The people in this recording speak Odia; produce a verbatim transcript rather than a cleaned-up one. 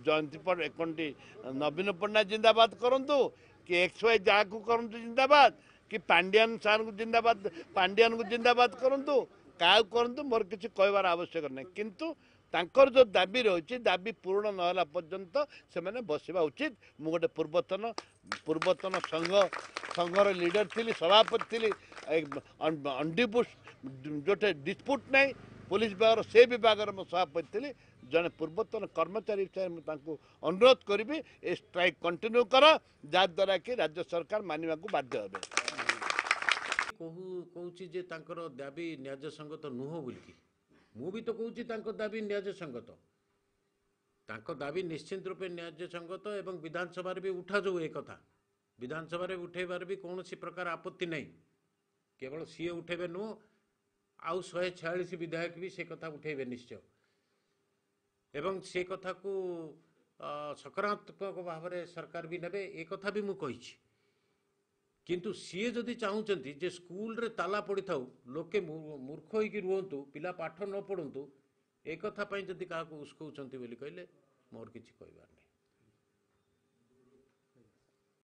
ଜୟନ୍ତୀ କଣଟି ନବୀନ ପଟ୍ଟନାୟକ ଜିନ୍ଦାବାଦ କରନ୍ତୁ କି ଏକ୍ସ ୱାଇ ଯାହାକୁ କରନ୍ତୁ ଜିନ୍ଦାବାଦ, କି ପାଣ୍ଡିଆନ ସାର୍ଙ୍କୁ ଜିନ୍ଦାବାଦ, ପାଣ୍ଡିଆନକୁ ଜିନ୍ଦାବାଦ କରନ୍ତୁ, କାହାକୁ କରନ୍ତୁ, ମୋର କିଛି କହିବାର ଆବଶ୍ୟକ ନାହିଁ। କିନ୍ତୁ ତାଙ୍କର ଯେଉଁ ଦାବି ରହିଛି, ଦାବି ପୂରଣ ନହେଲା ପର୍ଯ୍ୟନ୍ତ ସେମାନେ ବସିବା ଉଚିତ। ମୁଁ ଗୋଟେ ପୂର୍ବତନ ପୂର୍ବତନ ସଂଘ ସଂଘର ଲିଡର ଥିଲି, ସଭାପତି ଥିଲି, ଅନଡିପୁଟ ଯେଉଁଠି ଡିସ୍ପୁଟ୍ ନାହିଁ ପୋଲିସ ବିଭାଗର, ସେ ବିଭାଗର ମୁଁ ସଭାପତି ଥିଲି। ଜଣେ ପୂର୍ବତନ କର୍ମଚାରୀ ହିସାବରେ ମୁଁ ତାଙ୍କୁ ଅନୁରୋଧ କରିବି, ଏ ଷ୍ଟ୍ରାଇକ୍ କଣ୍ଟିନ୍ୟୁ କର, ଯାହାଦ୍ୱାରା କି ରାଜ୍ୟ ସରକାର ମାନିବାକୁ ବାଧ୍ୟ ହେବେ। କହୁ କହୁଛି ଯେ ତାଙ୍କର ଦାବି ନ୍ୟାଯ୍ୟ ସଙ୍ଗତ ନୁହଁ ବୋଲିକି, ମୁଁ ବି ତ କହୁଛି ତାଙ୍କ ଦାବି ନ୍ୟାଯ୍ୟ ସଙ୍ଗତ। ତାଙ୍କ ଦାବି ନିଶ୍ଚିନ୍ତ ରୂପେ ନ୍ୟାଯ୍ୟ ସଙ୍ଗତ ଏବଂ ବିଧାନସଭାରେ ବି ଉଠାଯାଉ ଏ କଥା। ବିଧାନସଭାରେ ଉଠେଇବାର ବି କୌଣସି ପ୍ରକାର ଆପତ୍ତି ନାହିଁ। କେବଳ ସିଏ ଉଠେଇବେ ନୁହଁ, ଆଉ ଶହେ ଛୟାଳିଶ ବିଧାୟକ ବି ସେ କଥା ଉଠେଇବେ ନିଶ୍ଚୟ, ଏବଂ ସେ କଥାକୁ ସକାରାତ୍ମକ ଭାବରେ ସରକାର ବି ନେବେ, ଏ କଥା ବି ମୁଁ କହିଛି। କିନ୍ତୁ ସିଏ ଯଦି ଚାହୁଁଛନ୍ତି ଯେ ସ୍କୁଲରେ ତାଲା ପଡ଼ିଥାଉ, ଲୋକେ ମୂର୍ଖ ହେଇକି ରୁହନ୍ତୁ, ପିଲା ପାଠ ନ ପଢ଼ନ୍ତୁ, ଏ କଥା ପାଇଁ ଯଦି କାହାକୁ ଉସ୍କଉଛନ୍ତି ବୋଲି କହିଲେ ମୋର କିଛି କହିବାର ନାହିଁ।